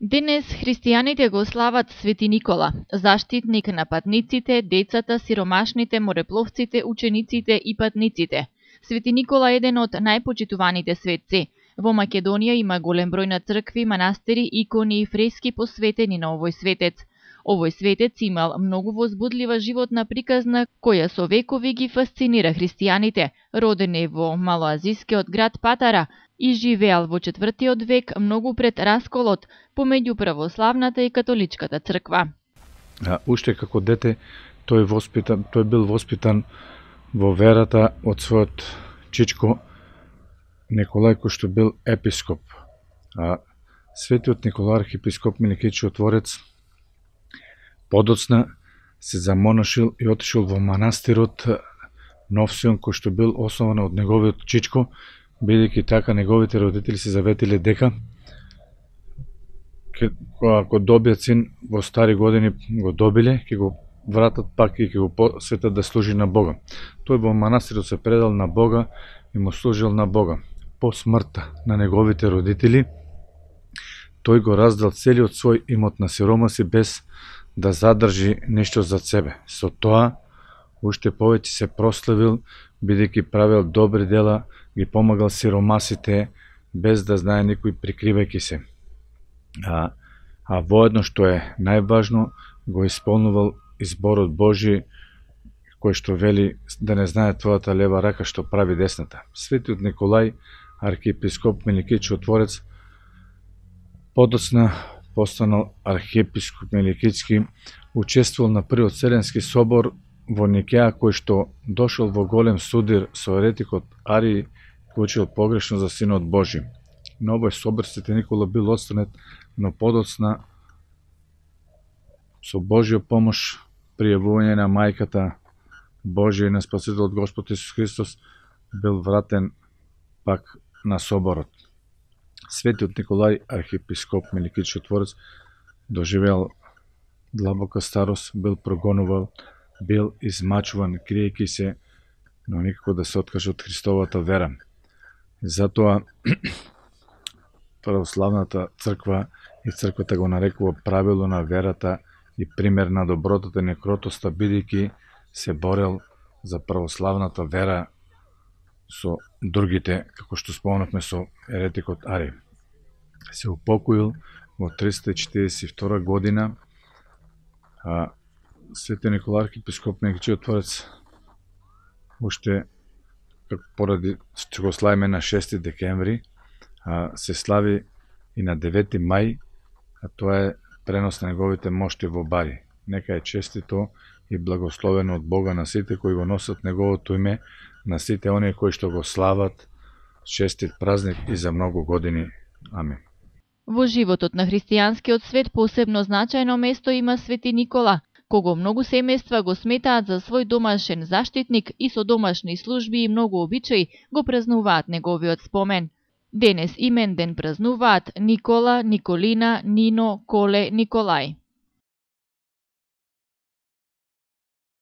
Денес христијаните го слават Свети Никола, заштитник на патниците, децата, сиромашните, морепловците, учениците и патниците. Свети Никола е еден од најпочитуваните светци. Во Македонија има голем број на цркви, манастири, икони и фрески посветени на овој светец. Овој светец имал многу возбудлива животна приказна, која со векови ги фасцинира христијаните. Роден е во малоазискиот град Патара и живеал во 4 век, многу пред расколот помеѓу православната и католичката црква. Уште како дете тој бил воспитан во верата од својот чичко Николај, кој што бил епископ. Светиот Николај архиепископ Миликиот Чудотворец подоцна се замонашил и отишел во манастирот Нов Сион, кој што бил основан од неговиот чичко, бидејќи така неговите родители се заветиле дека ако добијат син во стари години го добиле, ќе го вратат пак и ќе го посветат да служи на Бога. Тој во манастирот се предал на Бога и му служил на Бога. По смртта на неговите родители, тој го раздал целиот свој имот на сиромаси без да задржи нешто за себе. Со тоа, уште повеќе се прославил, бидејќи правил добри дела, ги помагал сиромасите, без да знае никој, прикривајќи се. Воедно, што е најважно, го исполнувал изборот Божи, кој што вели да не знае твојата лева рака што прави десната. Светиот Николај, архиепископ Миликиот Чудотворец, подоцна постанал архиепископ Миликијски, учествувал на првиот Вселенски собор во Никеја, кој што дошол во голем судир со еретикот Арии, кој учил погрешно за Синот Божи. На овој собор Свети Никола бил отстранет, но подоцна со Божја помош, пријавување на мајката Божја и на Спасителот Господ Исус Христос, бил вратен пак на соборот. Светиот Николај, архиепископ Миликиот Чудотворец, доживеал длабока старост, бил прогонувал, бил измачуван, криејќи се, но никако да се откаже од Христовата вера. Затоа православната црква и црквата го нарекува правило на верата и пример на добротата и некротоста, бидејќи се борел за православната вера со другите, како што спомнавме со еретикот Арий. Се упокоил во 342 година. Свети Николај архиепископ Миликиот Чудотворец уште поради што го славиме на 6 декември, се слави и на 9 мај, а тоа е пренос на неговите мошти во Бари. Нека е честито и благословено од Бога на сите кои го носат неговото име, на сите оние кои што го слават. Честит празник и за многу години. Амин. Во животот на христијанскиот свет посебно значајно место има Свети Никола, кого многу семејства го сметаат за свој домашен заштитник и со домашни служби и многу обичаи го празнуваат неговиот спомен. Денес имен ден празнуваат Никола, Николина, Нино, Коле, Николај.